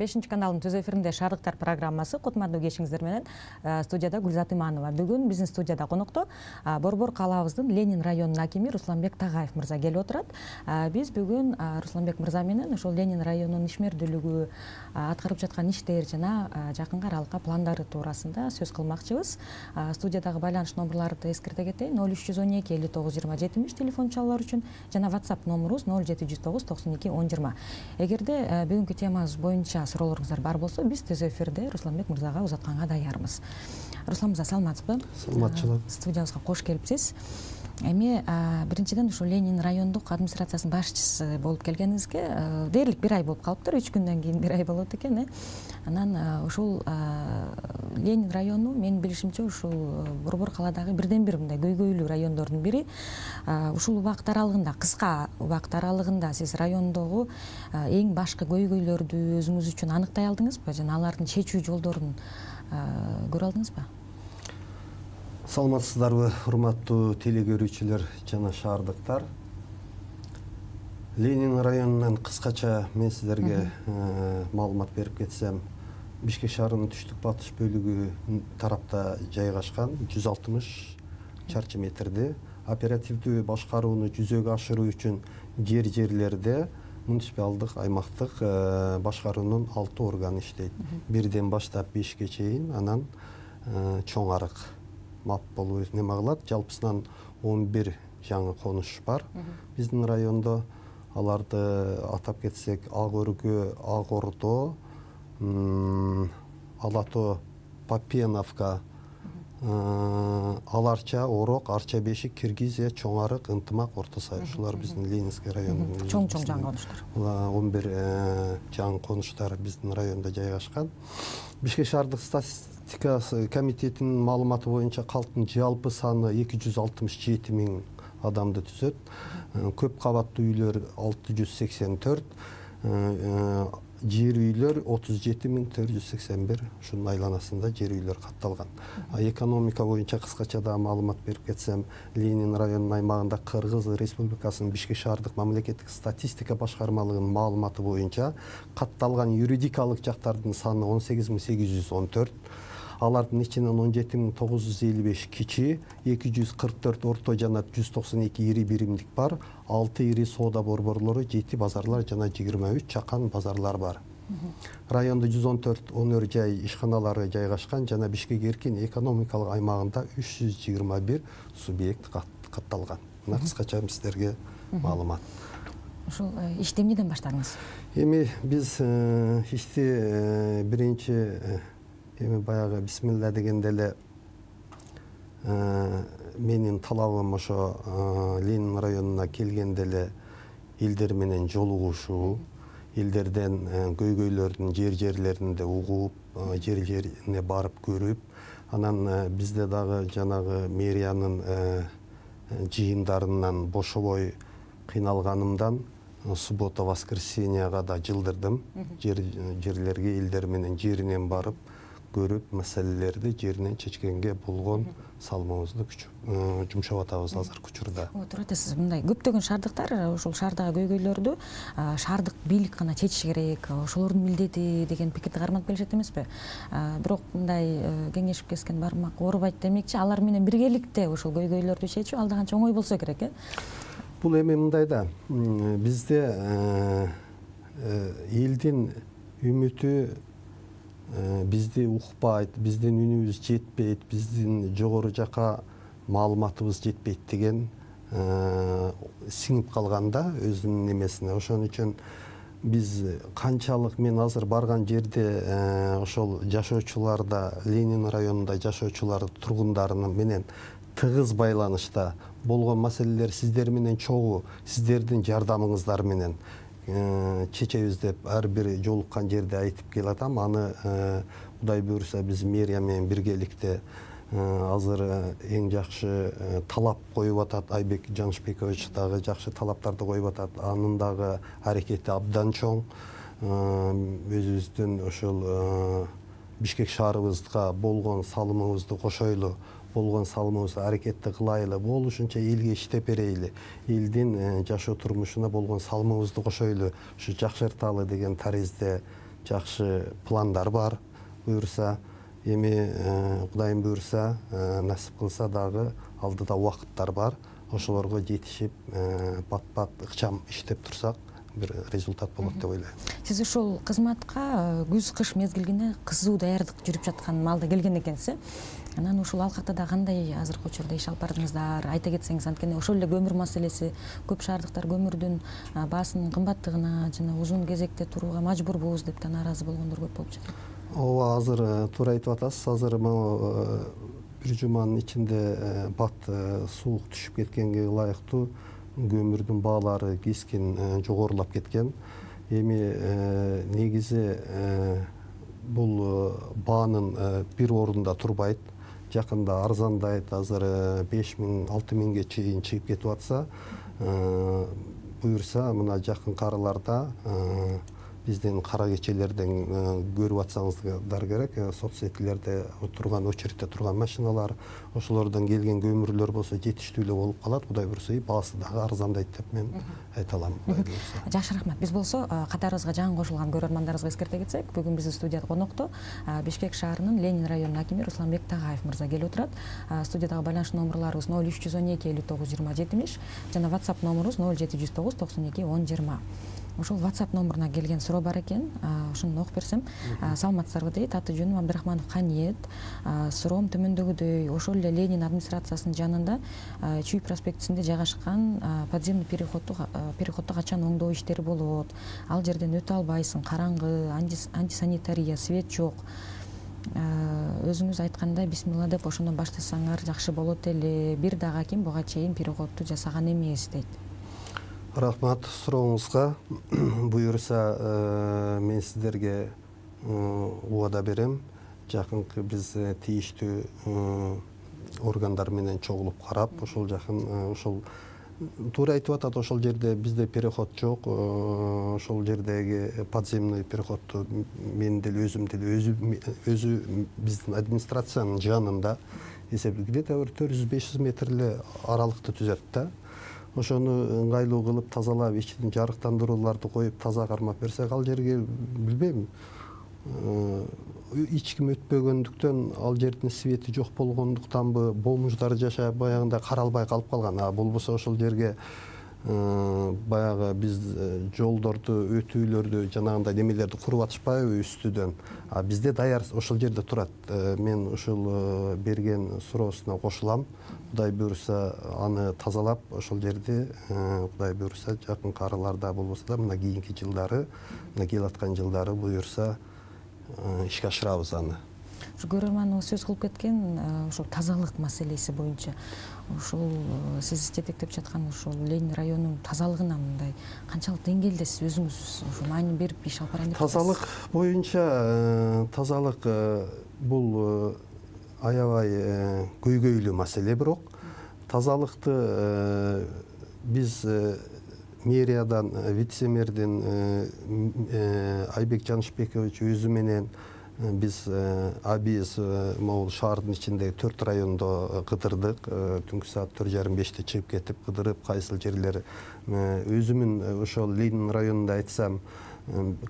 5 каналдын түз эфиринде Шаардыктар программасы. Кутмандуу кешиңиздер менен студияда Гүлзат Иманова. Бүгүн биздин студияда конокто Борбор калаабыздын Ленин районунун акими Русланбек Тагаев мырза келип отурат. Биз бүгүн Русланбек мырза менен ошол Ленин районунун ишмердүүлүгү, аткарып жаткан иштер жана жакынкы аралыкка пландары туурасында сөз кылмакчыбыз. Студиядагы байланыш номерларды эскерте кетейин: 0312 59 20 70 телефон чалуулар үчүн жана WhatsApp номерубуз 0709 92 10 20. Эгерде бүгүнкү темабыз боюнча суроолоруңуздар бар болсо, биз түз эфирде Русланбек мырзага узатканга даярбыз. Руслан мырза, саламатсызбы? Саламатчылык. Студиябызга кош келипсиз. Эми биринчиден ушул Ленин райондук администрациясынын башчысы болуп келгениңизге дээрлик 1 ай болуп калыптыр. 3 күндөн кийин 1 ай болот экен. Анан ушул Ленин району менин билишимче ушул Борбор калаадагы бирден-бир мындай көйгөйлүү райондордун бири. Ушул убакыт аралыгында, кыска убакыт аралыгында сиз райондогу эң башкы көйгөйлөрдү өзүңүз үчүн аныктай алдыңызбы жана алардын чечүү жолдорун көрө алдыңызбы? Саламатсыздарбы, урматтуу телекөрүүчүлөр жана шаардыктар. Ленин районунан кыскача мен сиздерге маалымат берип кетсем, Бишкек шаарынын түштүк батыш бөлүгү тарапта жайгашкан 160 чарчы метрде оперативдүү башкарууну жүзөгө ашыруу үчүн жерлерде муниципалдык аймактык башкаруунун 6 органы иштейт. Бирден баштап 5ке чейин, анан чоң арык МАП болуп неме кылат. Жалпысынан 11 жаңы конуш бар биздин райондо. Аларды атап кетсек: Ак өргө, Ак Ордо, Алато, Попеновка, Аларча, Орок, Арча Бешик, Киргизия, Чоң арык, Ынтымак, Орто Сай. Ушулар биздин Ленинский районунун чоң жаңы конуштар. 11 жаңы конуштар биздин райондо жайгашкан. Бишкек шаардык статистика комитетинин маалыматы боюнча калктын жалпы саны 267 000 адамды түзөт. Көп кабаттуу үйлөр 684, жер үйлөр 37 481, ушунун айланасында жер үйлөр катталган. Экономика боюнча кыскача да маалымат берип кетсем, Ленин районунун аймагында Кыргыз Республикасынын Бишкек шаардык мамлекеттик статистика башкармалыгынын маалыматы боюнча катталган юридикалык жактардын саны 18 814. Алардын ичинен 17 955 кичи, 244 орто жана 192 ири биримдик бар, 6 ири соода борборлору, 7 базарлар жана 23 чакан базарлар бар. Райондо 114 өнөр жай ишканалары жайгашкан жана Бишкек эркин экономикалык аймагында 321 субъект катталган. Мына кыскача сиздерге маалымат. Ушул ишти эмнеден баштадыңыз? Эми биз ишти биринчи баягы бисмилла дегенде эле менин талабым ошо Ленин районуна келгенде эле элдер менен жолугушуу, элдерден көйгөйлөрдүн жерлеринде угуп, жерлерине барып көрүп, анан бизде дагы жанагы мэриянын жыйындарынан бошобой кыйналганымдан суббота воскресеньяга да жылдырдым. Жерлерге элдер менен жеринен барып көрүп, маселелерди жеринен чечкенге болгон салымыбызды жумшап атабыз азыркы учурда. Туура айтасыз. Мындай көптөгөн шаардыктар ушул шаардагы көйгөйлөрдү шаардык бийлик гана чечиш керек, ошолордун милдети деген пикирди карманып келишет эмеспи? Бирок мындай кеңешип кескен бармак оорубайт демекчи, алар менен биргеликте ушул көйгөйлөрдү чечүү алда канча оңой болсо керек, Бул эми мындай да, бизде элдин үмүтү бизди укпайт, биздин үнүбүз жетпейт, биздин жогору жака маалыматыбыз жетпейт деген сиңип калганда өзүнүн немесине. Ошон үчүн биз канчалык мен азыр барган жерде ошол жашоочуларда, Ленин районунда жашоочулар тургундарынын менен тыгыз байланышта болгон маселелер сиздер менен чогуу, сиздердин жардамыңыздар менен чечебиз деп ар бир жолуккан жерде айтып келатам. Аны Кудай буйруса биз мэрия менен биргеликте азыр эң жакшы талап коюп атат. Айбек Жанышбекович дагы жакшы талаптарды коюп атат. Анын дагы аракети абдан чоң. Өзүбүздүн ошол Бишкек шаарыбызга болгон салымыбызды кошойлу, болгон салымыбызды аракетти кылайлы, болушунча элге иштеп берейли, элдин жашоо турмушуна болгон салымыбызды кошойлу, ушу жакшырталы деген таризде жакшы пландар бар. Буюрса эми Кудайым буюрса, насип кылса дагы алдыда убакыттар бар. Ошолорго жетишип, бат-бат ыкчам иштеп турсак, бир результат болот деп ойлойм. Сиз ушул кызматка күз-кыш мезгилине кызуу даярдык жүрүп жаткан маалда келген экенсиз. Анан ушул алкактада кандай азыркы учурда иш алып бардыңыздар? Айта кетсеңиз, анткени ошол эле көмүр маселеси, көп шаардыктар көмүрдүн баасынын кымбаттыгына жана узун кезекте турууга мажбурбуз деп да нааразы болгондор көп болуп жатат. Ооба, азыр туура айтып атасыз. Азыр могу бир жуманын ичинде бат суук түшүп кеткенге ылайыктуу көмүрдүн баалары кескин жогорулап кеткен. Эми негизи бул баанын бир орунда турбайт. Жакында арзандайт. Азыр 5000-6000 миңге чейин чыгып кетип атса, буюрса мына жакынкы араларда биздин кара кечелерден көрүп атсаңыздар керек, соцсетилерде турган, очередте турган машиналар, ошолордон келген көмүрлөр болсо жетиштүү эле болуп калат. Кудай буюрса, баасы дагы арзандайт деп мен айта алам. Жакшы, рахмат. Биз болсо катарыбызга жаңы кошулган көрөрмандарыбызга эскерте кетсек, бүгүн биздин студияда конокто Бишкек шаарынын Ленин районунун акими Русланбек Тагаев мырза келип отурат. Студиядагы байланыш номерларыбыз 0312 59 20 70 жана WhatsApp номерубуз 0709 92 10 20. Ошол WhatsApp номеруна келген суроо бар экен. Ошону окуп берсем. Саламатсыздарбы дейт. Аты жөнүм Абдрахманов Каниет. Суроом төмөндөгүдөй. Ошол эле Ленин администрациясынын жанында Чүй проспектисинде жайгашкан подземный переходду качан оңдоо иштери болот? Ал жерден өтө албайсың, караңгы, антисанитария, свет жок. Өзүңүз айткандай, бисмилла деп ошондон баштасаңар жакшы болот эле. Бир дагы аким буга чейин переходду жасаган эмес дейт. Рахмат сурооңузга. Буюрса, мен сиздерге убада берем. Жакынкы биз тийиштүү органдар менен чогулуп карап, ошол ошол туура айтып атат, ошол жерде бизде переход жок. Ошол жердеги подземный переходду мен деле өзү биздин администрациянын жанында эсептеп где-то 400-500 метр эле аралыкты түзөт да. Ошону ыңгайлуу кылып тазалап, ичинен жарыктандырууларды коюп таза кармап берсек, ал жерге билбейм, эч ким өтпөгөндүктөн, ал жердин свети жок болгондуктанбы, бомждар жашап баягындай каралбай калып калган. Болбосо ошол жерге баягы биз жолдорду, өтүүлөрдү, жанагындай немелерди куруп атышпайбы үстүдөн. Бизде даяр ошол жерде турат. Мен ушул берген суроосуна кошулам. Кудай буюрса, аны тазалап, ошол жерди Кудай буюрса, жакынкы араларда болбосо да, мына кийинки жылдары, мына келаткан жылдары буюрса ишке ашырабыз аны. Көрөрманыбыз сөз кылып кеткен ошол тазалык маселеси боюнча, ушул сиз жетектеп жаткан ушул Ленин районунун тазалыгына мындай канчалык деңгээлдесиз, өзүңүз ушу маани берип иш алып барайын деп жатасыз? Тазалык боюнча, тазалык бул аябай көйгөйлүү маселе, бирок тазалыкты биз мэриядан, вице-мэрдин Айбек Жанышбекович өзү менен биз абиз могул шаардын ичиндеги 4 райондо кыдырдык. Түнкү саат 4:30-5те чыгып кетип кыдырып, кайсыл жерлер өзүмүн ошол Ленин районунда айтсам,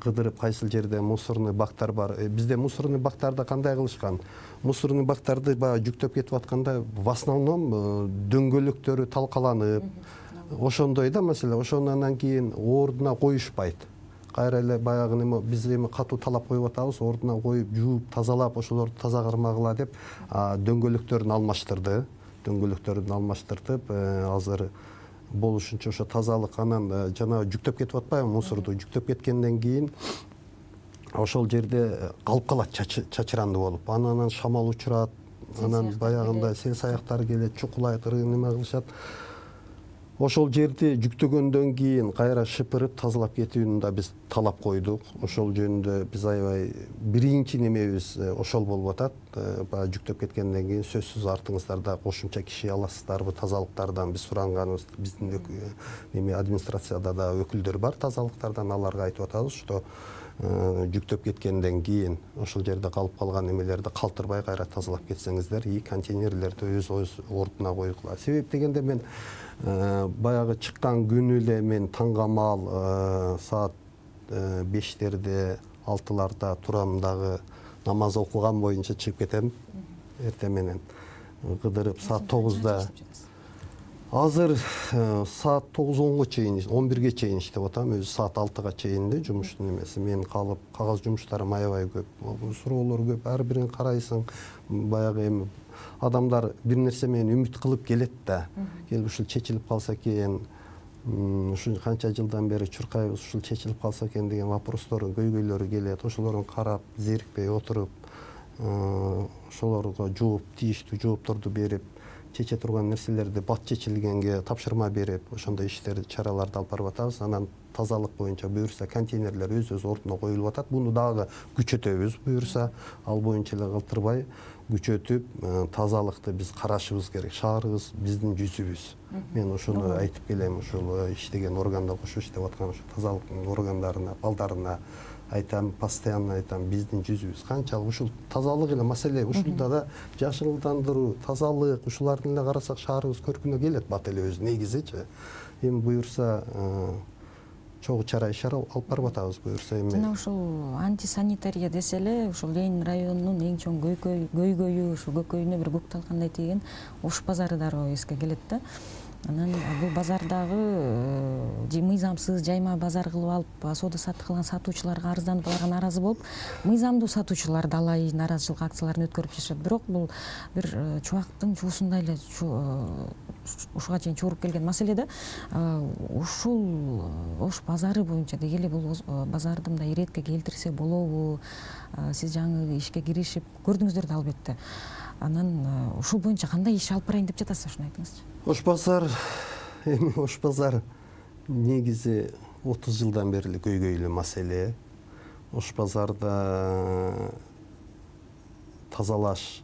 кыдырып кайсыл жерде мусорный бактар бар. Бизде мусорный бактарды кандай кылышкан? Мусорный бактарды баягы жүктөп кетип атканда, в основном дөңгөлөктөрү талкаланып, ошондой да маселе. Ошондон кийин ордуна коюшпайт. Кайра эле баягы неме биз эми катуу талап коюп атабыз, ордуна коюп, жууп, тазалап, ошолорду таза кармагыла деп дөңгөлөктөрүн алмаштырды. Дөңгөлөктөрүн алмаштыртып, азыр болушунча ошо тазалык, анан жана жүктөп кетип атпайбы мусорду, жүктөп кеткенден кийин ошол жерде калып калат чачыранды болуп. Анан шамал учурат, анан баягындай сел саяктар келет, чукулайт, неме кылышат. Ошол жерди жүктөгөндөн кийин кайра шыпырып тазалап кетүүнү да биз талап койдук. Ошол жөнүндө биз аябай биринчи немебиз ошол болуп атат. Баягы жүктөп кеткенден кийин сөзсүз артыңыздарда кошумча киши аласыздарбы тазалыктардан биз суранганыбыз, биздин неме администрацияда да өкүлдөр бар тазалыктардан, аларга айтып атабыз, что жүктөп кеткенден кийин ошол жерде калып калган немелерди калтырбай кайра тазалап кетсеңиздер, и контейнерлерди өз ордуна коюгула. Себеп дегенде мен баягы чыккан күнү эле мен таңга маал саат 5-терде, 6-ларда турам дагы намаз окуган боюнча чыгып кетем эртең менен. Кыдырып саат 9-да. Азыр саат 9-10-го чейин, 11-ге чейин иштеп атам. Өзү саат 6-га чейин да жумуштун эмеси. Мен калып, кагаз жумуштарым аябай көп. Суроолор көп, ар бирин карайсың. Баягы эми адамдар бир нерсе менен үмүт кылып келет да. Келип ушул чечилип калса экен, ушул канча жылдан бери чуркайбыз, ушул чечилип калса экен деген вопростордун көйгөйлөрү келет. Ошолорун карап, зерикпей отуруп, ошолорго жооп, тийиштүү жоопторду берип, чече турган нерселерди бат чечилгенге тапшырма берип, ошондой иштерди, чараларды алып барып атабыз. Анан тазалык боюнча буюрса контейнерлер өз ордуна коюлуп атат. Буну дагы күчөтөбүз буюрса, ал боюнча эле калтырбай күчөтүп, тазалыкты биз карашыбыз керек. Шаарыбыз биздин жүзүбүз. Мен ошону айтып келем, ушул иштеген органда кошо иштеп аткан ошо тазалык органдарына, балдарына айтам, постоянно айтам, биздин жүзүбүз. Канчалык ушул тазалык эле маселе, ушулда да жашылдандыруу, тазалык, ушулардын эле карасак шаарыбыз көркүнө келет бат эле өзү негизичи. Эми буюрса чогуу чара ишара алып барып атабыз буюрса эми. Жана ушул антисанитария десе эле ушул Ленин районунун эң чоң көйгөйү, ушул көкөйүнө бир көк талкандай тийген Ош базары дароо эске келет да. Анан бул базардагы мыйзамсыз жайма базар кылып алып, соода саттык кылган сатуучуларга арызданып, аларга нааразы болуп, мыйзамдуу сатуучулар далай нааразычылык акцияларын өткөрүп жашат. Бирок бул бир чубактын чуусундай эле ушуга чейин чууруп келген маселе да. Ушул Ош базары боюнча дегеле бул базарды мындай иретке келтирсе болобу? Сиз жаңы ишке киришип көрдүңүздөр да албетте. Анан ушул боюнча кандай иш алып барайын деп жатасыз, ушуну айтыңызчы. Ош базар негизи 30 жылдан бери көйгөйлүү маселе. Ош базарда тазалаш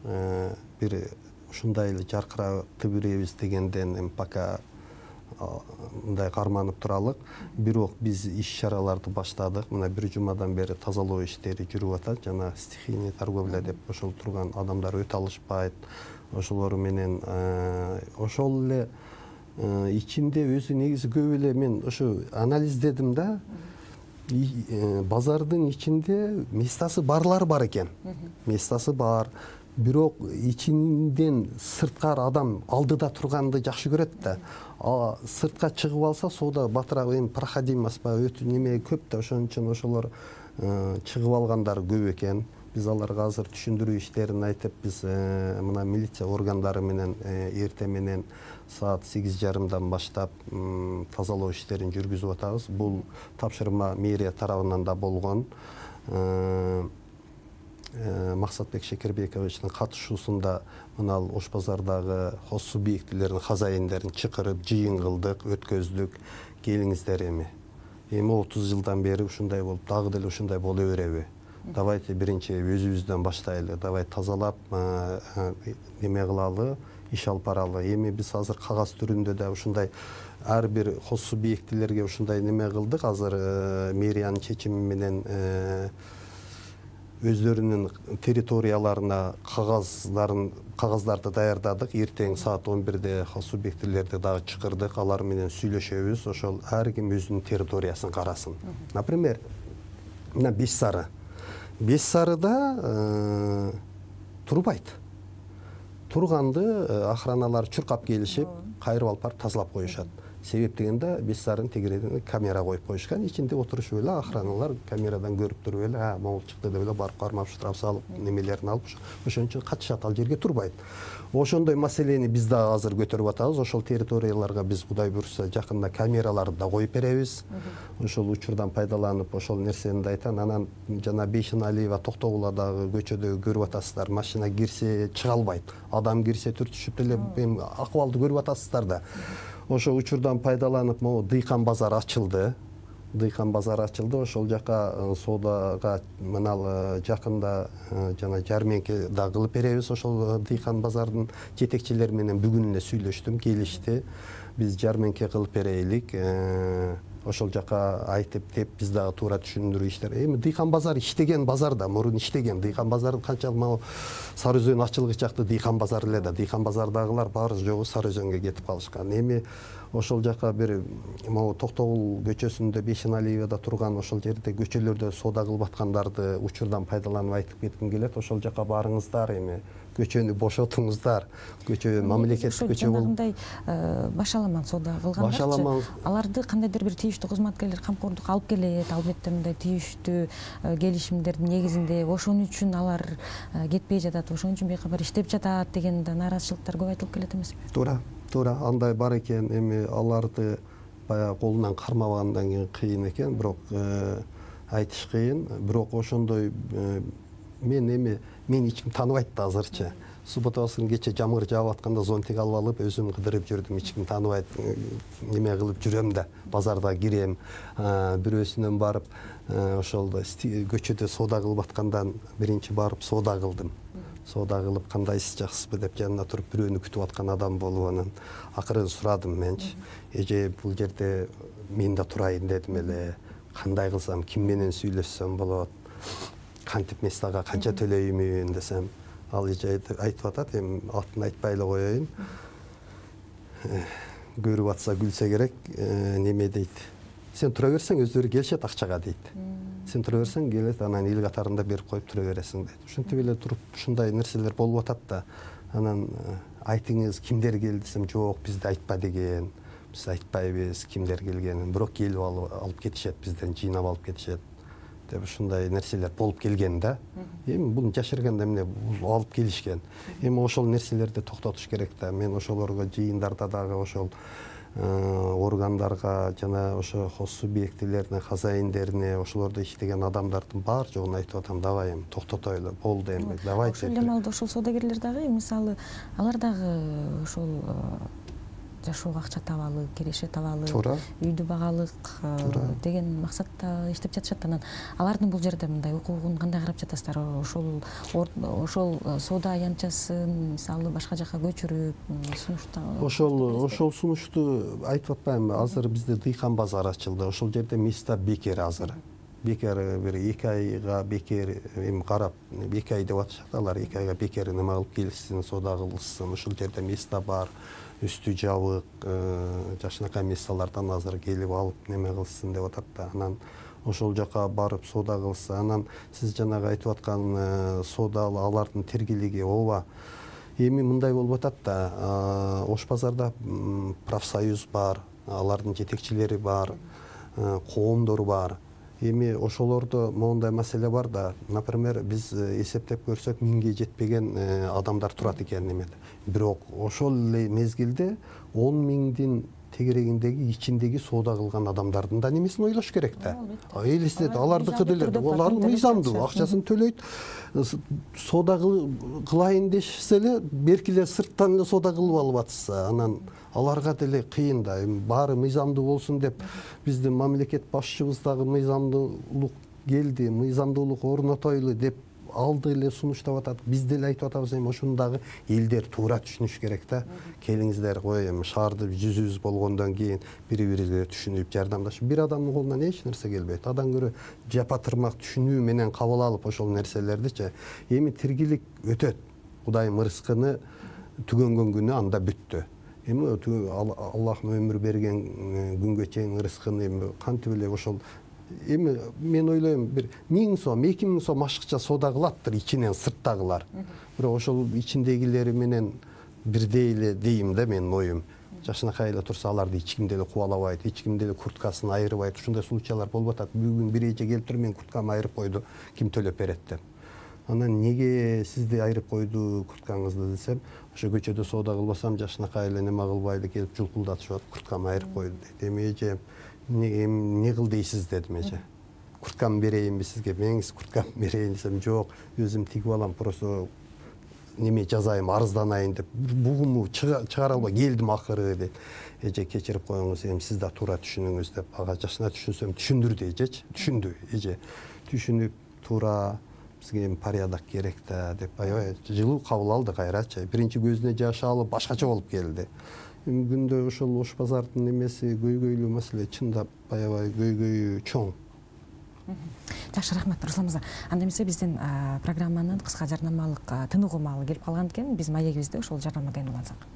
бир ушундай эле жаркыратып беребиз дегенден эми пока мындай карманып туралык. Бирок биз иш-чараларды баштадык. Мына бир жумадан бери тазалоо иштери жүрүп атат. Жана стихийный торговля деп ошол турган адамдар өтө алышпайт. Ошолор менен ошол эле ичинде өзү негизи көп эле мен ошо анализдедим да. Базардын ичинде местасы барлар бар экен. Местасы бар. Бирок ичинден сырткар адам алдыда турганды жакшы көрөт да. Сыртка чыгып алса соода батыраак эми проходим эмеспи, өтө неме көп да, ошон үчүн ошолор чыгып алгандар көп экен. Биз аларга азыр түшүндүрүү иштерин айтып, биз мына милиция органдары менен эртең менен саат 8:30 баштап тазалоо иштерин жүргүзүп атабыз. Бул тапшырма мэрия тарабынан да болгон. Максатбек Шекербековичтин катышуусунда мына Ош базардагы хоз субъектилердин хозяиндерин чакырып жыйын кылдык, өткөздүк. Келиңиздер эми 30 жылдан бери ушундай болуп, дагы деле ушундай боло береби? Давайте биринчи өзүбүздөн баштайлы, давай тазалап неме кылалы, иш алып баралы. Эми биз азыр кагаз түрүндө да ушундай ар бир хоз субъектилерге ушундай неме кылдык. Азыр мэриянын чечими менен өздөрүнүн территорияларына кагаздарды даярдадык. Эртең саат 11-де хоз субъектилерди дагы чакырдык. Алар менен сүйлөшөбүз. Ошол ар ким өзүнүн территориясын карасын. Например, мына Беш Сарыда турбайт. Турганды охраналар чуркап келишип, кайрып алып барып тазалап коюшат. Себеп дегенде Беш Сарынын тегерегине камера коюп коюшкан. Ичинде отурушуп эле охраналар камерадан көрүп туруп эле, могул чыкты деп эле барып кармап штраф салып, немелерин алып, ошон үчүн катышат, ал жерге турбайт. Ошондой маселени биз да азыр көтөрүп атабыз. Ошол территорияларга биз Кудай буйрса жакында камераларды да коюп беребиз. Ошол учурдан пайдаланып, ошол нерсени да айтам. Анан жана Бейшеналиева Токтогуладагы көчөдө көрүп атасыздар, машина кирсе чыга албайт. Адам кирсе түртүшүп эле акыбалды көрүп атасыздар да. Ошо учурдан пайдаланып, могу Дыйкан базар ачылды. Ошол жака соодага мына жакында жана жарменке да кылып беребиз. Ошол Дыйкан базардын жетекчилери менен бүгүн эле сүйлөштүм, келишти. Биз жарменке кылып берелик. ошол жака айтып деп биз дагы туура түшүндүрүү иштер. Эми дыйкан базар иштеген базар да, мурун иштеген дыйкан базары канчалык могу Сары Өзөн ачылгыч жакты дыйкан базар эле да, дыйкан базардагылар баары жогу Сары Өзөнгө кетип калышкан. Эми ошол жака бир могу Токтогул көчөсүндө Бейшеналиевада турган ошол жерде көчөлөрдө соода кылып аткандарды учурдан пайдаланып айтып кетким келет. Ошол жака барыңыздар, эми көчөнү бошотуңуздар. Көчө мамлекеттик көчө болуп жанагындай башаламан соода кылгандар аларды кандайдыр бир тийиштүү кызматкерлер камкордук алып келет, албетте мындай тийиштүү келишимдердин негизинде ошон үчүн алар кетпей жатат, ошон үчүн бейкабар иштеп жатат деген да нааразычылыктар көп айтылып келет эмеспи? Туура, андай бар экен. Эми аларды баягы колунан кармабагандан кийин кыйын экен, бирок айтыш кыйын. Бирок ошондой мен эч ким тааныбайт да азырчы. Субботабасын кече жамгыр жаап атканда зонтик алып алып өзүм кыдырып жүрдүм. Эч ким тааныбайт, неме кылып жүрөм да, базарда кирем, бирөөсүнөн барып ошол көчөдө соода кылып аткандан биринчи барып соода кылдым. Соода кылып кандайсыз, жакшысызбы деп жанына туруп бирөөнү күтүп аткан адам болуп, анан акырын сурадым менчи. Эже бул жерде мен да турайын дедим эле. Кандай кылсам, ким менен сүйлөшсөм болот? Кантип местага канча төлөймүн десем, ал эже айтып атат, эми атын айтпай эле коеюн. Көрүп атса күлсө керек, неме дейт. Сен тура берсең өздөрү келишет акчага дейт. Сен тура берсең келет, анан эл катарында берип коюп тура бересиң дейт. Ушинтип эле туруп ушундай нерселер болуп атат да. Анан айтыңыз кимдер келди десем, жок, бизди айтпа деген. Биз айтпайбыз кимдер келгенин, бирок келип алып кетишет, бизден жыйнап алып кетишет деп ушундай нерселер болуп келген да. Эми буну жашырганда эмне алып келишкен. Эми ошол нерселерди токтотуш керек да. Мен ошолорго жыйындарда дагы ошол органдарга жана ошо хос субъектилерине, хозяиндерине, ошолордо иштеген адамдардын баар жогуна айтып атам, давай эми токтотойлу, болду эми, давай. Ошол эле маалда ошол соодагерлер дагы мисалы алар дагы ошол жашоого акча табалы, киреше табалы, үйдү багалык деген максатта иштеп жатышат. Анан алардын бул жерде мындай укугун кандай карап жатасыздар? Ошол соода аянтчасын мисалы башка жака көчүрүп сунушту ошол сунушту айтып атпаймынбы? Азыр бизде дыйкан базары ачылды. Ошол жерде места бекер азыр. Бекер бир 2 айга бекер эми карап 2 ай деп атышат алар. 2 айга бекер неме кылып келишсин, соода кылышсын. Ошол жерде места бар. Үстү жабык, жакшынакай месталардан азыр келип алып неме кылсын деп атат да. Анан ошол жака барып соода кылса, анан сиз жанагы айтып аткан соода алардын тергилиги ооба. Эми мындай болуп атат да, Ош базарда профсоюз бар, алардын жетекчилери бар, коомдору бар. Эми ошолордо моундай маселе бар да. Например, биз эсептеп көрсөк 1000ге жетпеген адамдар турат экен немеде. Бирок ошол эле мезгилде 10 миңдин тегерегиндеги ичиндеги соода кылган адамдардын да немесин ойлош керек да. Элестет, алардыкы деле, алар мыйзамдуу, акчасын төлөйт. Соода кылайын дешсе эле, беркиле сырттан эле соода кылып алып атса, анан аларга деле кыйын да. Баары мыйзамдуу болсун деп биздин мамлекет башчыбыз дагы мыйзамдуулук келди, мыйзамдуулук орнотойлу деп алды эле сунуштап атат. Биз деле айтып атабыз, эми ошону дагы элдер туура түшүнүш керек да. Келиңиздер, кой эми шаарды жүзүбүз болгондон кийин бири-бирибизге түшүнүп, жардамдашып, бир адамдын колунан эч нерсе келбейт. Адан көрө жапа тырмак түшүнүү менен кабыл алып ошол нерселердичи. Эми тиргилик өтөт. Кудайым ырыскыны түгөнгөн күнү анда бүттү. Эми Аллахым өмүр берген күнгө чейин ырыскыны эми кантип эле ошол эми мен ойлойм бир 1000 сом, 2000 сом ашыкча соода кылаттыр ичинен сырттагылар. Бирок ошол ичиндегилери менен бирдей эле дейм да менин оюм. Жакшынакай эле турса аларды эч ким деле кубалабайт, эч ким деле курткасын айырбайт. Ушундай случайлар болуп атат. Бүгүн бир эже келип туруп, мен курткамды айырып койду, ким төлөп берет деп. Анан неге сизди айырып койду курткаңызды десем, ошо көчөдө соода кылбасам жакшынакай эле неме кылбайды, келип жулкулдатышып атып, курткамды айырып койду дейт. Эми эже эмне кыл дейсиз дедим эже. Курткамды берейинби сизге? Меңиз курткамды берейин десем, жок, өзүм тигип алам, просто неме жазайын, арызданайын деп бугумду чыгара албай келдим акыры дейт. Эже кечирип коюңуз, эми сиз да туура түшүнүңүз деп. Ага жакшына түшүнсөм, түшүндүрдү эжечи. Түшүндү эже. Түшүнүп туура бизге эми порядок керек да деп аябай жылуу кабыл алды кайрачы. Биринчи көзүнө жаш алып башкача болуп келди. күндө ошол Ош базардын эмеси көйгөйлүү маселе чындап аябай көйгөйү чоң. Жакшы, рахмат Руслан мырза. Анда эмесе биздин программанын кыска жарнамалык тыныгуу маалы келип калган экен. Биз маегибизде ошол жарнамадан улансак.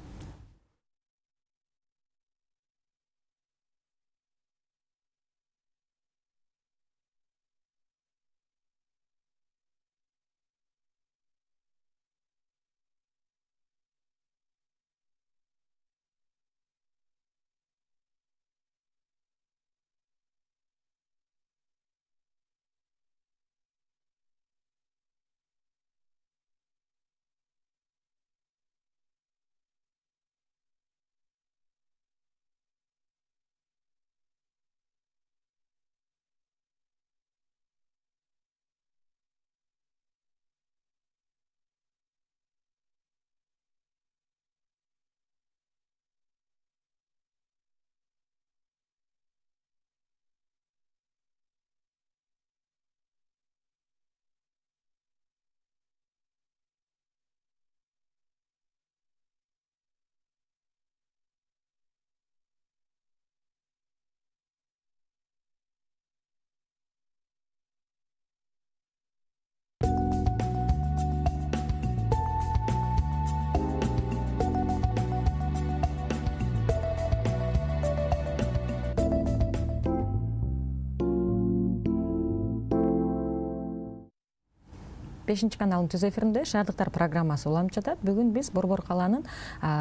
Бешинчи каналдын түз эфиринде Шаардыктар программасы уланып жатат. Бүгүн биз Борбор калаанын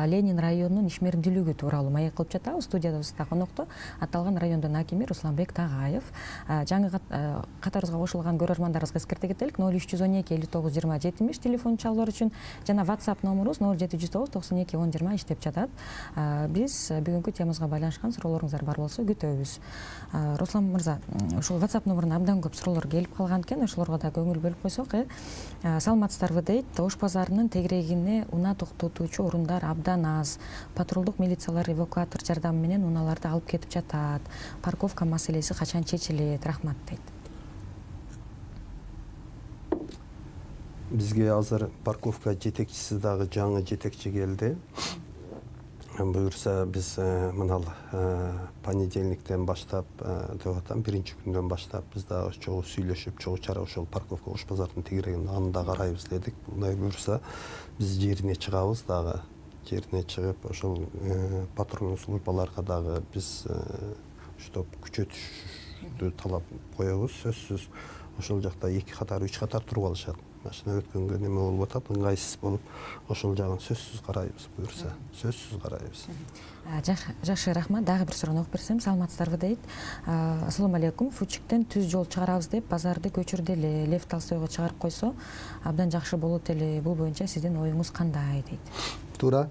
Ленин районунун ишмердүүлүгү тууралуу маек кылып жатабыз. Студиябызда конокто аталган райондун акими Русланбек Тагаев. Жаңы катарыбызга кошулган көрөрмандарыбызга эскерте кетелик. 0312 59 20 70 телефон чалуулар үчүн жана WhatsApp номерубуз 0709 92 10 20 иштеп жатат. Биз бүгүнкү темабызга байланышкан суроолоруңуздар бар болсо күтөбүз. Руслан мырза, ушул WhatsApp номуруна абдан көп суроолор келип калган экен. Ошолорго да көңүл бөлүп койсок, саламатсыздарбы дейт. Ош базарынын тегерегине унаа токтотуучу орундар абдан аз. Патрулдук милициялар эвакуатор жардамы менен унааларды алып кетип жатат. Парковка маселеси качан чечилет? Рахмат дейт. Бизге азыр парковка жетекчиси дагы жаңы жетекчи келди. Буюрса биз мынал понедельниктен баштап деп атам, биринчи күндөн баштап биз дагы чогуу сүйлөшүп, чогуу чара ошол парковка Ош базарынын тегерегин анда карайбыз дедик. Мындай буюрса биз жерине чыгабыз дагы. Жерине чыгып ошол патрульдук службаларга дагы биз чтоб күчөтүштү талап коебуз. Сөзсүз ошол жакта 2 катар, 3 катар туруп алышат. Машина өткөнгө неме болуп атат, ыңгайсыз болуп, ошол жагын сөзсүз карайбыз, буюрса, сөзсүз карайбыз. Жакшы, рахмат. Дагы бир суроону окуп берсем, саламатсыздарбы дейт. Ассаламу алейкум. Фучиктен түз жол чыгарабыз деп базарды көчүрдү эле. Лев Толстойго чыгарып койсо, абдан жакшы болот эле. Бул боюнча сиздин оюңуз кандай дейт? Туура.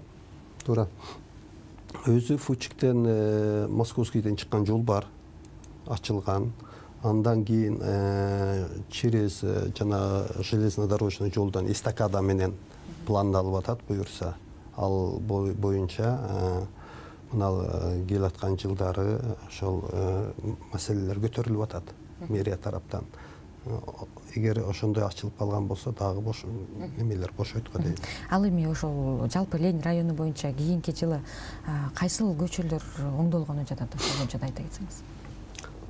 Өзү Фучиктен Московскийден чыккан жол бар, ачылган. Андан кийин через жана железнодорожный жолдон эстакада менен пландалып атат, буюрса. Ал боюнча мынал келаткан жылдары ошол маселелер көтөрүлүп атат мэрия тараптан. Эгер ошондой ачылып калган болсо, дагы бош немелер бошойт го дейт. Ал эми ошол жалпы Ленин району боюнча кийинки жылы кайсыл көчөлөр оңдолгону жатат, ошол боюнча да айта кетсеңиз.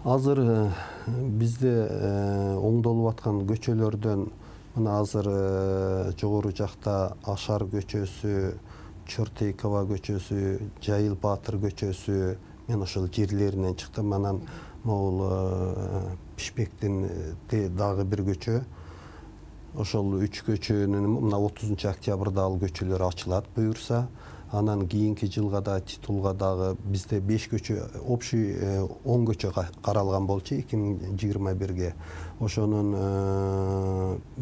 Азыр бизде оңдолуп аткан көчөлөрдөн мына азыр жогору жакта Ашар көчөсү, Чортейкова көчөсү, Жайыл Баатыр көчөсү, мен ошол жерлеринен чыктым. Анан могул Пишпектин дагы бир көчө. Ошол 3 көчөнүн мына 30 октябрда ал көчөлөр ачылат буюрса. Анан кийинки жылга да титулга дагы бизде 5 көчө, общий 10 көчө каралган болчу 2021ге. Ошонун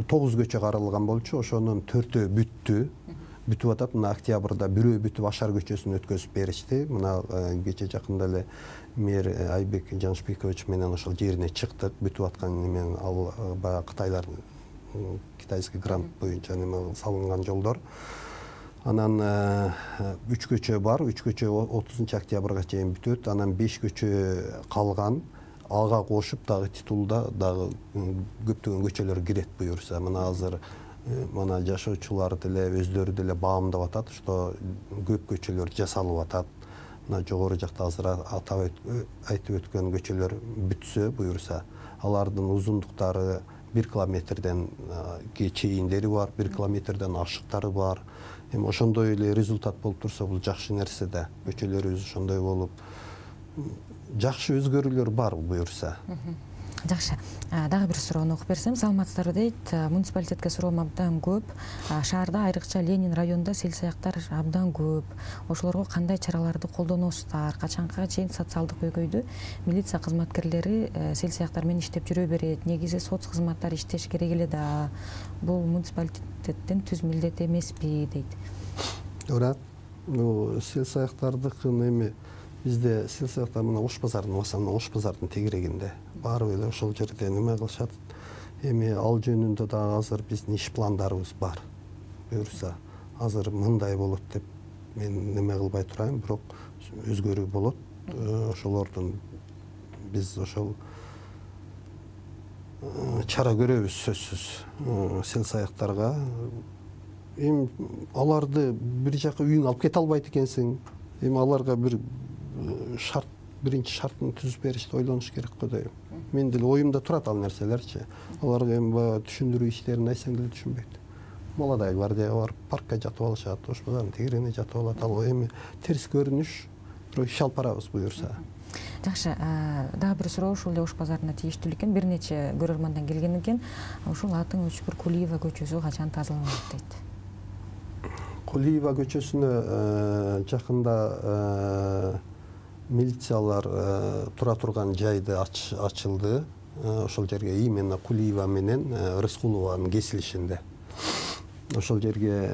9 көчө каралган болчу, ошонун 4-өө бүтүп атат. Мына октябрда бирөө бүтүп Ашар көчөсүн өткөзүп беришти. Мына кече жакында эле мэр Айбек Жаншбекович менен ошол жерине чыктык. Бүтүп аткан немен ал баягы кытайлардын китайский грант боюнча неме салынган жолдор. Анан 3 көчө бар, 3 көчө 30 октябрга чейин бүтөт. Анан 5 көчө калган. Ага кошуп дагы титулда дагы көптөгөн көчөлөр кирет буюрса. Мына азыр мына жашоочулар деле өздөрү деле баамдап атат, что көп көчөлөр жасалып атат. мына жогору жакта азыр атап айтып өткөн көчөлөр бүтсө буюрса, алардын узундуктары 1 километрден чейиндери бар, 1 километрден ашыктары бар. Эми ошондой эле результат болуп турса, бул жакшы нерсе да. Көчөлөрүбүз ошондой болуп, жакшы өзгөрүүлөр бар буюрса. Жакшы. Дагы бир суроону окуп берсем, саламатсыздарбы дейт. Муниципалитетке суроом абдан көп. Шаарда, айрыкча Ленин районунда сел-саяктар абдан көп. Ошолорго кандай чараларды колдоносуздар? Качанга чейин социалдык көйгөйдү милиция кызматкерлери сел-саяктар менен иштеп жүрө берет? Негизи соц кызматтар иштеш керек эле да. Бул муниципалитеттин түз милдети эмеспи дейт. Туура. Сел-саяктардыкын эми бизде сел-саяктар мына Ош базарынын басамына, Ош базардын тегерегинде барып эле ошол жерде неме кылышат. Эми ал жөнүндө дагы азыр биздин иш пландарыбыз бар. Буюрса, азыр мындай болот деп мен неме кылбай турайын, бирок өзгөрүү болот. Ошолордун биз ошол чара көрөбүз сөзсүз. Сел-саяктарга эми аларды бир жака үйүңө алып кете албайт экенсиң. Эми аларга бир шарт, биринчи шартын түзүп беришти ойлонуш керек го дейм. Мен деле оюмда турат ал нерселерчи. Аларга эми баягы түшүндүрүү иштерин айтсаң деле түшүнбөйт. Молодая гвардияга барып паркка жатып алышат, Ош базарынын тегерегине жатып алат. Ал эми терс көрүнүш, бирок иш алып барабыз буюрса. Жакшы. Дагы бир суроо ушул эле Ош базарына тийиштүү экен. Бир нече көрөрмандан келген экен. Ушул Атын Өчкүр Кулиева көчөсү качан тазаланат дейт. Кулиева көчөсүнө жакында милициялар тура турган жайды ачылды. Ошол жерге именно Кулиева менен Рыскулованын кесилишинде. Ошол жерге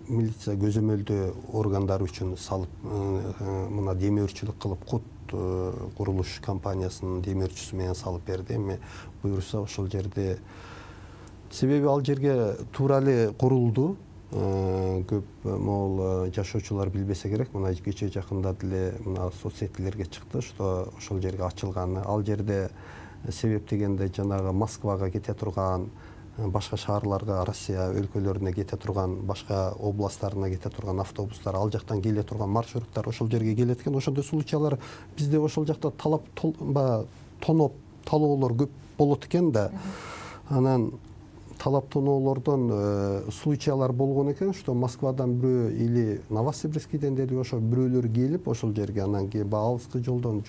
милиция көзөмөлдөө органдар үчүн салып, мына демөөрчүлүк кылып Кут курулуш компаниясынын демөөрчүсү менен салып берди. Эми буюрса ошол жерде, себеби ал жерге туура эле курулду. Көп могул жашоочулар билбесе керек, мына кечээ жакында деле мына соцсетилерге чыкты, что ошол жерге ачылганы. Ал жерде себеп дегенде жанагы Москвага кете турган, башка шаарларга, Россия өлкөлөрүнө кете турган, башка областтарына кете турган автобустар, ал жактан келе турган маршруттар ошол жерге келет экен. Ошондой случайлар бизде ошол жакта талоолор көп болот экен да. Анан талап тоноолордон случайлар болгон экен, что Москвадан бирөө или Новосибирскийден деле ошо бирөөлөр келип ошол жерге, анан алыскы жолдон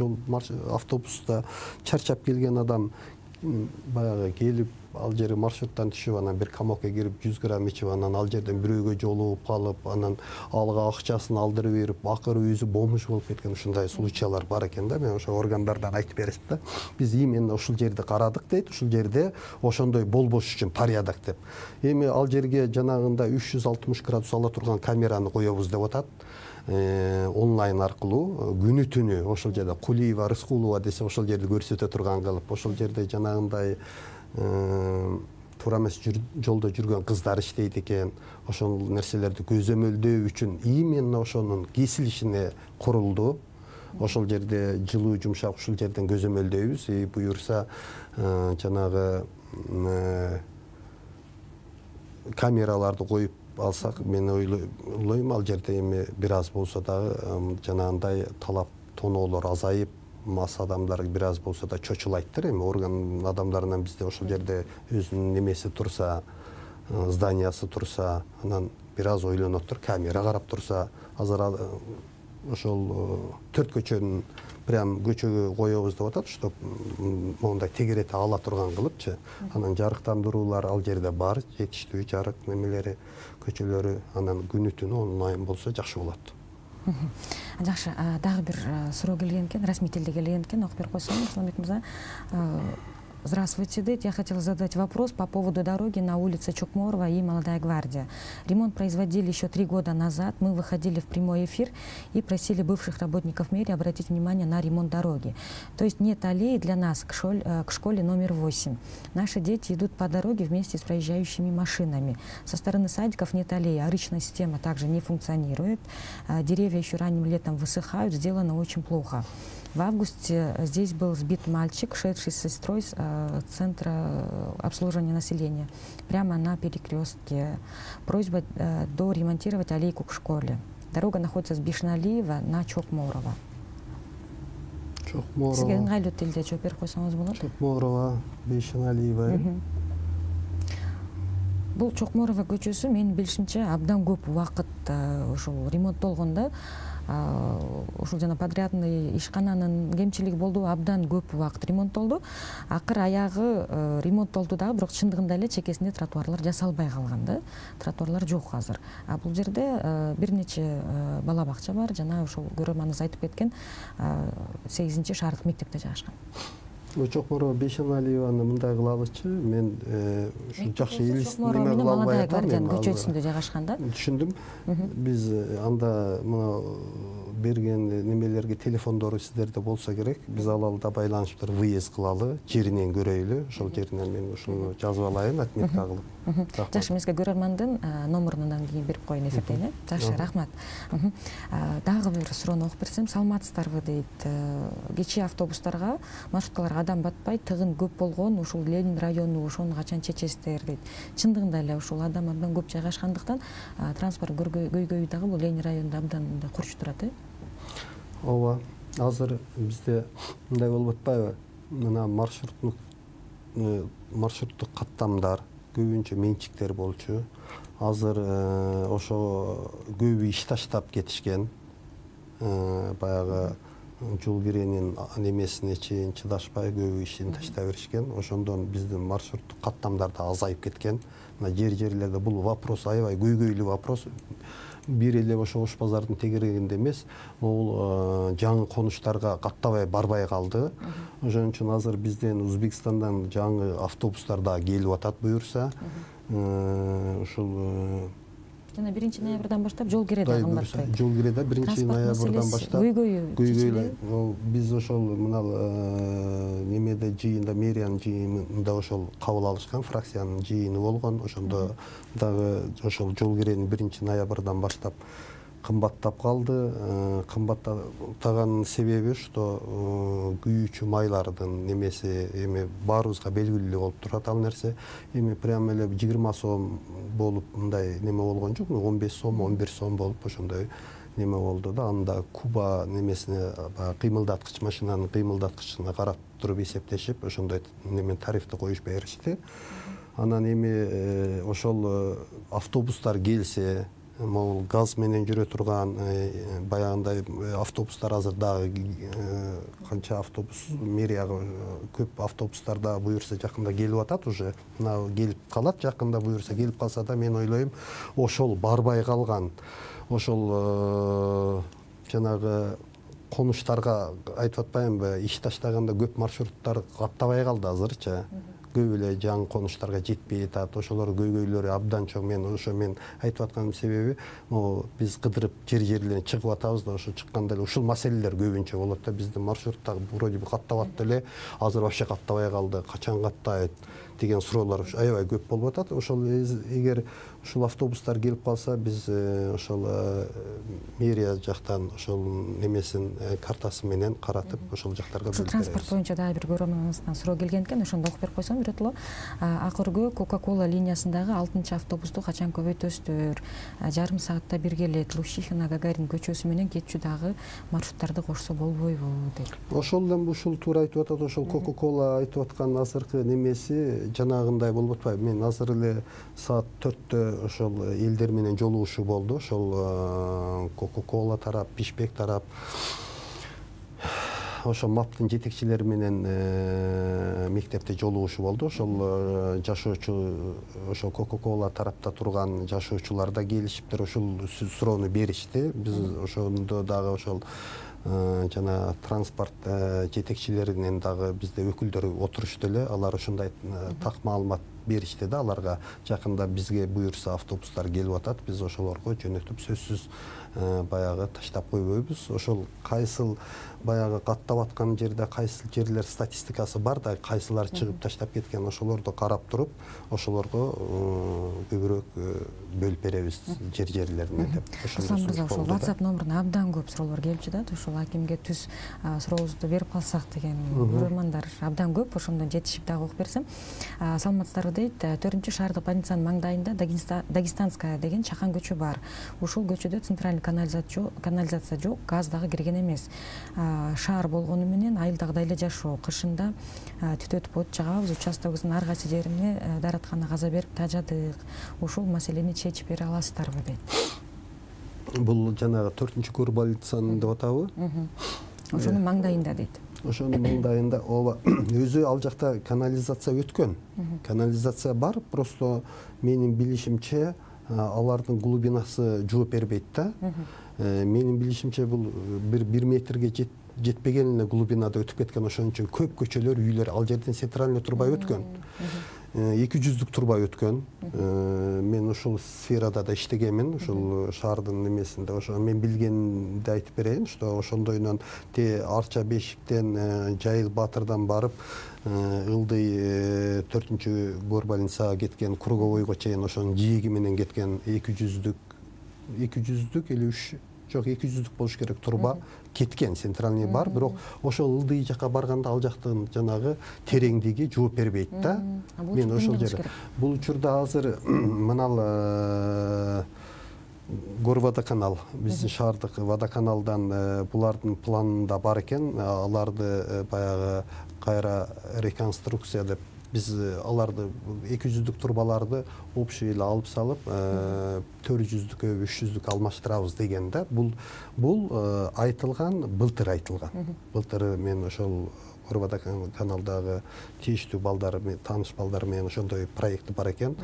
автобуста чарчап келген адам баягы келип ал жерге маршруттан түшүп, анан бир камокко кирип 100 грамм ичип, анан ал жерден бирөөгө жолугуп калып, анан алга акчасын алдырып берип, акыры өзү бомж болуп кеткен ушундай случайлар бар экен да. Мен ошо органдардан айтып беришти да. Биз именно ушул жерди карадык дейт, ушул жерде ошондой болбош үчүн порядок деп. Эми ал жерге жанагындай 360 градус ала турган камераны коебуз деп атат. Онлайн аркылуу күнү түнү ошол жерде Кулиева, Рыскулова десе ошол жерди көрсөтө турган кылып, ошол жерде жанагындай туура эмес жолдо жүргөн кыздар иштейт экен. Ошол нерселерди көзөмөлдөө үчүн именно ошонун кесилишине курулду. Ошол жерде жылуу жумшак ушул жерден көзөмөлдөйбүз. Буюрса жанагы камераларды коюп алсак, мен ойлойм ал жерде эми бир аз болсо дагы жанагындай талап тоноолор азайып, мас адамдар бир аз болсо да чочулайттыр. Эми орган адамдарынан бизде ошол жерде өзүнүн немеси турса, зданиясы турса, анан бир аз ойлоноттур, камера карап турса, азыр ошол 4 көчөнүн прям көчөгө коебуз деп атат, что мондай тегерети ала турган кылыпчы. Анан жарыктандыруулар ал жерде бар, жетиштүү жарык немелери, көчөлөрү, анан күнү түнү онлайн болсо жакшы болот. Жакшы, дагы бир суроо келген экен, расмий тилде келген экен, окуп берип койсоң, Русланбек мырза. Здравствуйте, Дед. Я хотела задать вопрос по поводу дороги на улице Чукморова и Молодая гвардия. Ремонт производили еще 3 года назад. Мы выходили в прямой эфир и просили бывших работников мэрии обратить внимание на ремонт дороги. То есть нет аллеи для нас к школе номер 8. Наши дети идут по дороге вместе с проезжающими машинами. Со стороны садиков нет аллеи, а речная система также не функционирует. Деревья еще ранним летом высыхают, сделано очень плохо. В августе здесь был сбит мальчик, шедший с сестрой центра обслуживания населения, прямо на перекрестке. Просьба доремонтировать аллейку к школе. Дорога находится с Бишналиева на Чокморова. Сизге ыңгайлуу тилде жооп берип койсоңуз болот. Чокморова, Бишналиева. Бул Чокморова көчөсү менин билишимче абдан көп убакыт ушул ремонттолгондо. Ушул жана подрядный ишкананын кемчилиги болду, абдан көп убакыт ремонттолду. Акыр аягы ремонттолду дагы, бирок чындыгында эле чекесинде тротуарлар жасалбай калган да. Тротуарлар жок азыр. Бул жерде бир нече бала бакча бар, жана ошол көрөрманыбыз айтып кеткен 8-чи шаардык мектепте жайгашкан. Чокморова Бишналиеваны мындай кылалычы, мен ушу жакшы неме кыла албай атам. Көчөсүндө жайгашкан да. Түшүндүм. Биз анда мына берген немелерге телефондору сиздерде болсо керек, биз алалда байланыштыр выезд кылалы, жеринен көрөйлү. Ошол жеринен мен ушуну жазып алайын, отметка кылып. Жакшы, мен сизге көрөрмандын номурунан кийин берип коеюн эфирден. Жакшы, рахмат. Дагы бир суроону окуп берсем, саламатсыздарбы дейт. Кечээ автобустарга, маршруткаларга адам батпай, тыгын көп болгон, ушул Ленин району, ошону качан чечесиздер дейт. Чындыгында эле ушул адам абдан көп жайгашкандыктан транспорт көйгөйү дагы бул Ленин районунда абдан курч турат. Ооба, азыр бизде мындай болуп атпайбы? Мына маршруттук каттамдар көбүнчө менчиктер болчу. Азыр ошо көбү иш таштап кетишкен. Баягы жол киренин немесине чейин чыдашпай көбү ишин таштай беришкен. Ошондон биздин маршруттук каттамдар да азайып кеткен. Мына жерлерде бул вопрос аябай көйгөйлүү вопрос. Бир эле ошо Ош базардын тегерегинде эмес, бул жаңы конуштарга каттабай барбай калды. Ошон үчүн азыр бизден Өзбекстандан жаңы автобустар да келип атат буюрса. Ушул жана 1-ноябрдан баштап жол кире да кымбаттай. Жол кире да 1-ноябрдан баштап көйгөйлүү. Биз ошол мына немеде жыйында, мэриянын жыйынында ошол кабыл алышкан, фракциянын жыйыны болгон. Ошондо дагы ошол жол кирени 1-ноябрдан баштап кымбаттап калды. Кымбаттаганын себеби что күйүүчү майлардын немеси эми баарыбызга белгилүү болуп турат ал нерсе. Эми прямо эле 20 сом болуп мындай неме болгон жок, 15 сом, 11 сом болуп ошондой неме болду да. Анда Куба немесине кыймылдаткыч, машинанын кыймылдаткычына карап туруп эсептешип, ошондой неме тарифти коюп беришти. Анан эми ошол автобустар келсе, могул газ менен жүрө турган баягындай автобустар азыр дагы канча автобус, мэрияга көп автобустар да буюрса жакында келип атат уже. Мына келип калат жакында буюрса, келип калса да мен ойлойм ошол барбай калган, ошол жанагы конуштарга айтып атпаймынбы, иш таштаганда көп маршруттар каттабай калды азырчы. Көп эле жаңы конуштарга жетпей атат, ошолор көйгөйлөрү абдан чоң. Мен айтып атканымдын себеби, биз кыдырып жерлерден чыгып атабыз да, ошо чыкканда эле ушул маселелер көбүнчө болот да. Биздин маршруттар вроде бы каттап атты эле, азыр вообще каттабай калды, качан каттайт деген суроолор аябай көп болуп атат. Ошол эгер ушул автобустар келип калса, биз ошол мэрия жактан ошол немесин картасы менен каратып, ошол жактарга бөлүп беребиз. Транспорт боюнча дагы бир көрөрманыбыздан суроо келген экен, ошондо окуп берип койсоң бирөтөлө. Акыркы Coca-Cola линиясындагы 6-автобусту качан көбөйтөсүздөр? Жарым саатта бир келет. Лущихина, Гагарин көчөсү менен кетчү дагы маршруттарды кошсо болбойбу дейт. Ошол эле ушул туура айтып атат. Ошол Coca-Cola айтып аткан азыркы немеси жанагындай болуп атпайбы? Мен азыр эле саат 4-тө ошол элдер менен жолугушуу болду. Ошол Coca-Cola тарап, Пишпек тарап, ошол МАПтын жетекчилери менен мектепте жолугушуу болду. Ошол жашоочу, ошол Coca-Cola тарапта турган жашоочулар да келишиптир, ошол суроону беришти. Биз ошондо дагы ошол жана транспорт жетекчилеринен дагы бизде өкүлдөр отурушту эле. Алар ушундай так маалымат беришти да, аларга жакында бизге буюрса автобустар келип атат, биз ошолорго жөнөтүп сөзсүз баягы таштап койбойбуз. Ошол кайсыл баягы каттап аткан жерде кайсыл жерлер статистикасы бар да, кайсылар чыгып таштап кеткен, ошолорду карап туруп, ошолорго көбүрөөк бөлүп беребиз жерлерине деп. Аслан мырза, ошол WhatsApp номуруна абдан көп суроолор келчү да, ошол ушул акимге түз сурообузду берип калсак деген көрөрмандар абдан көп. Ошондон жетишип дагы окуп берсем. Саламатсыздарбы дейт. 4-чү шаардык больницанын маңдайында Дагестанская деген чакан көчө бар. Ушул көчөдө центральный канализация жок, газ дагы кирген эмес. Шаар болгону менен айылдагыдай эле жашоо. Кышында түтүп өтүп от жагабыз, участогубуздун ар кайсы жерине даараткана каза берип тажадык. Ушул маселени чечип бере аласыздарбы дейт. Бул жанагы 4-чү көр больницанын деп атабы? Ошонун маңдайында дейт. Ошонун маңдайында ооба өзү ал жакта канализация өткөн. Канализация бар, просто менин билишимче алардын глубинасы жооп бербейт да. Менин билишимче бул 1 метрге жетпеген эле глубинада өтүп кеткен, ошон үчүн көп көчөлөр, үйлөр ал жерден центральный труба өткөн. 200 труба өткөн. Мен ушул сферада да иштегенмин, ушул шаардын немесинде. Ошо мен билгенди айтып берейин, что ошондойнон Арча Бешиктен, Жайыл Батырдан барып, ылдый 4-чү гор больницага кеткен, Круговойго чейин ошонун жээги менен кеткен 200 или 3 жок 200 болуш керек труба кеткен, центральный бар, бирок ошол ылдый жака барганда ал жактын жанагы тереңдиги жооп бербейт да. Мен ошол жерде бул учурда азыр мынал Горводоканал, биздин шаардык водоканалдан булардын планында бар экен, аларды баягы кайра реконструкция деп биз аларды 200 турбаларды общий эле алып салып 400-кө 300 алмаштырабыз деген да. Бул айтылган, былтыр айтылган. Былтыр мен ошол Горводоканалдагы тийиштүү балдар, тааныш балдар менен ошондой проект бар экен.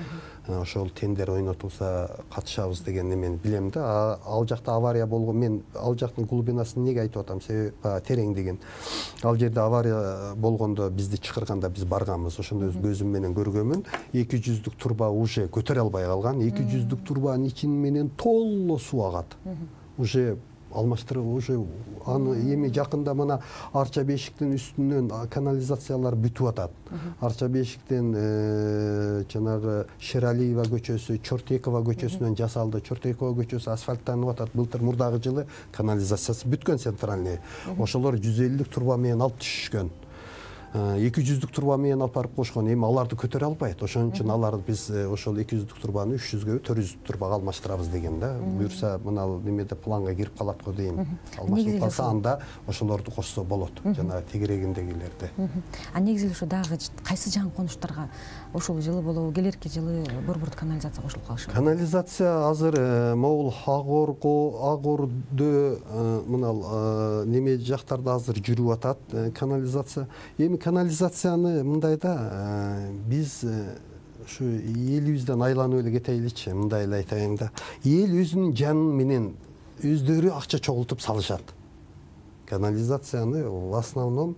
Ошол тендер ойнотулса катышабыз деген мен билем да. Ал жакта авария болгон, мен ал жактын глубинасын неге айтып атам? Себеби тереңдигин. Ал жерде авария болгондо бизди чакырганда биз барганбыз. Ошондо көзүм менен көргөнмүн. 200 турба уже көтөрө албай калган. 200 турбанын ичин менен толло суу агат. Уже алмаштырып, уже аны эми жакында мына Арча Бешиктин үстүнөн канализациялар бүтүп атат. Арча Бешиктен жанагы Шералиева көчөсү, Чортекова көчөсүнөн жасалды. Чортекова көчөсү асфальттанып атат. Былтыр мурдагы жылы канализациясы бүткөн центральный. Ошолор 150 турба менен алып түшүшкөн. 200 турба менен алып барып кошкон. Эми аларды көтөрө албайт. Ошон үчүн аларды биз ошол 200 турбаны 300гө 400 турбага алмаштырабыз деген да. Буюрса мына немеде планга кирип калат го дейм. Алмаштырып калса анда ошолорду кошсо болот. Жана тегерегиндегилерди. Негизи ошо дагы кайсы жаңы конуштарга ошол жылы болобу, келерки жылы борбордук канализация кошулуп калышы? Канализация азыр могул Агордо мына неме жактарда азыр жүрүп атат канализация. Эми канализацияны мындай да, биз ушу элибизден айланып эле кетейинчи, мындай эле айтайын да. Эл өзүнүн жанын менен өздөрү акча чогултуп салышат. Канализацияны в основном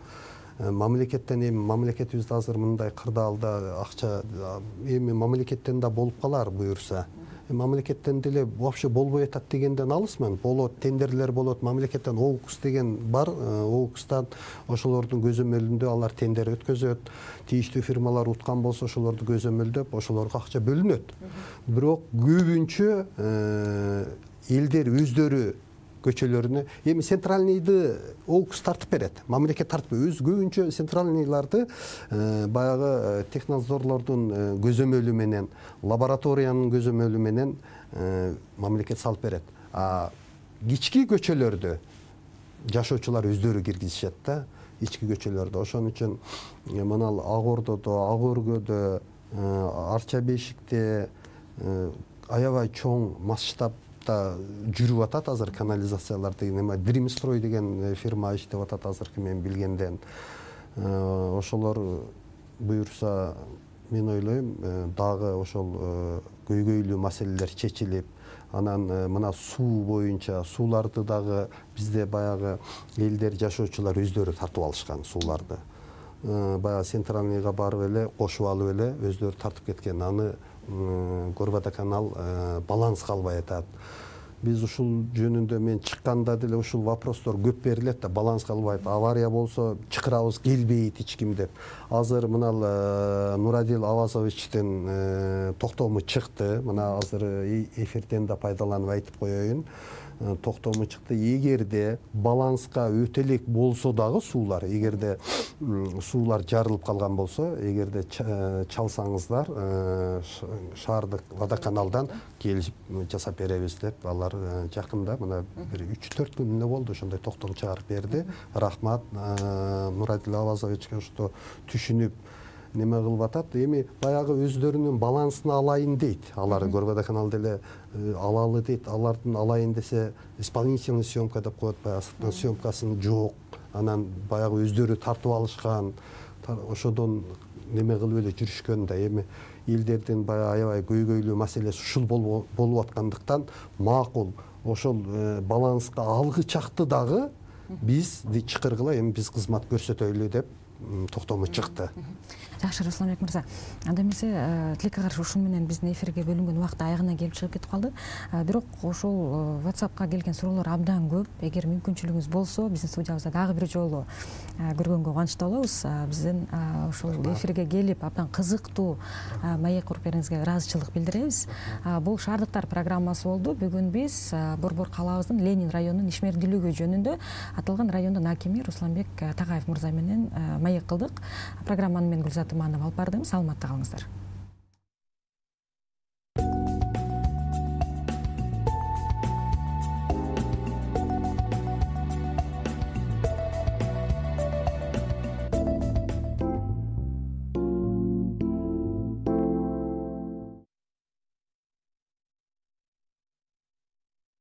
мамлекеттен, эми мамлекетибизде азыр мындай кырдаалда акча эми мамлекеттен да болуп калар буюрса. Мамлекеттен деле вообще болбой атат дегенден алысмын. Болот, тендерлер болот, мамлекеттен ОУКС деген бар. ОУКСтан ошолордун көзөмөлүндө алар тендер өткөзөт. Тийиштүү фирмалар уткан болсо ошолорду көзөмөлдөп, ошолорго акча бөлүнөт. Бирок көбүнчө элдер өздөрү көчөлөрүнө эми центральныйды ОУКС тартып берет. Мамлекет тартып өз көбүнчө центральныйларды баягы технадзорлордун көзөмөлү менен, лабораториянын көзөмөлү менен мамлекет салып берет. Кички көчөлөрдө жашоочулар өздөрү киргизишет да, ички көчөлөрдө. Ошон үчүн мына Агордодо, Агөргөдө, Арча Бешикте аябай чоң масштаб жүрүп атат азыр канализациялар деген. Дримстрой деген фирма иштеп атат азыркы мен билгенден. Ошолор буюрса мен ойлойм дагы ошол көйгөйлүү маселелер чечилип, анан мына суу боюнча сууларды дагы бизде баягы элдер жашоочулар өздөрү тартып алышкан сууларды. Баягы центральныйга барып эле кошуп алып эле өздөрү тартып кеткен. Аны Горводоканал баланс калбай атат. Биз ушул жөнүндө мен чыкканда деле ушул вопростор көп берилет да, баланс калбайт. Авария болсо чакырабыз, келбейт эч ким деп. Азыр мына Нурадил Авазовичтин токтому чыкты. Мына азыр эфирден да пайдаланып айтып коеюн. токтому чыкты. Эгерде баланска өтө элек болсо дагы суулар, эгерде суулар жарылып калган болсо, эгерде чалсаңыздар шаардык водоканалдан келип жасап беребиз деп алар жакында мына бир 3-4 күн эле болду ошондой токтом чыгарып берди. Рахмат Мурадил Авазовичке ошто түшүнүп неме кылып атат. Эми баягы өздөрүнүн балансын алайын дейт. Алар Горводоканал деле алалы дейт. Алардын алайын десе исполнительный съемка деп коет, баягы съемкасын жок. Анан баягы өздөрү тартып алышкан. Ошодон неме кылып эле жүрүшкөн да. Эми элдердин баягы аябай көйгөйлүү маселеси ушул болуп аткандыктан макул ошол баланска алгы чакты дагы биз чакыргыла, эми биз кызмат көрсөтөлү деп токтому чыкты. Жакшы, Русланбек мырза, анда эмесе тилекке каршы ушун менен биздин эфирге бөлүнгөн убакыт аягына келип чыгып кетип калды. Бирок ошол WhatsAppка келген суроолор абдан көп. Эгер мүмкүнчүлүгүңүз болсо, биздин студиябызда дагы бир жолу көргөнгө кубанычтуу болобуз. Биздин ошол эфирге келип абдан кызыктуу маек куруп бериңизге ыраазычылык билдиребиз. Бул Шаардыктар программасы болду. Бүгүн биз Борбор калаабыздын Ленин районунун ишмердүүлүгү жөнүндө аталган райондун акими Русланбек Тагаев мырза менен маек кылдык. Программаны мен Гүлзат Иманова алып бардым. Саламатта калыңыздар.